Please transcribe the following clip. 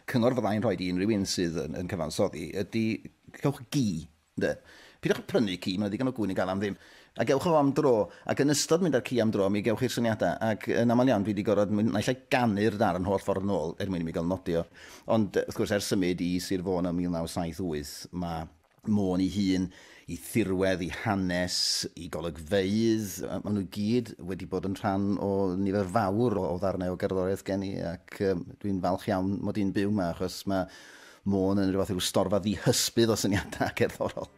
Cyngor fyddai'n rhoi i unrhyw un sydd yn cyfansoddi ydy cewch gi, ynde? Pidwch prynu ci, mae'n ddigon o gŵn i gael am ddim. A gewch o am dro, ac yn ystod mynd â'r ci am dro, mi gewch chi'r syniadau. Ac yn aml iawn, dwi wedi gorfod mynd naill ai ganu'r darn holl ffordd yn ôl er mwyn i mi gael nodio. Ond wrth gwrs, ers symud i Sir Fôn ym 1978, mae Môn ei hun, i thirwedd, i hanes, i golygfeydd, maen nhw gyd wedi bod yn rhan o nifer fawr o ddarnau o gerddoriaeth gen i, ac dwi'n falch iawn mod i'n byw yma, achos mae Môn yn rhywbeth rhyw storfa ddihysbydd o syniadau cerddorol.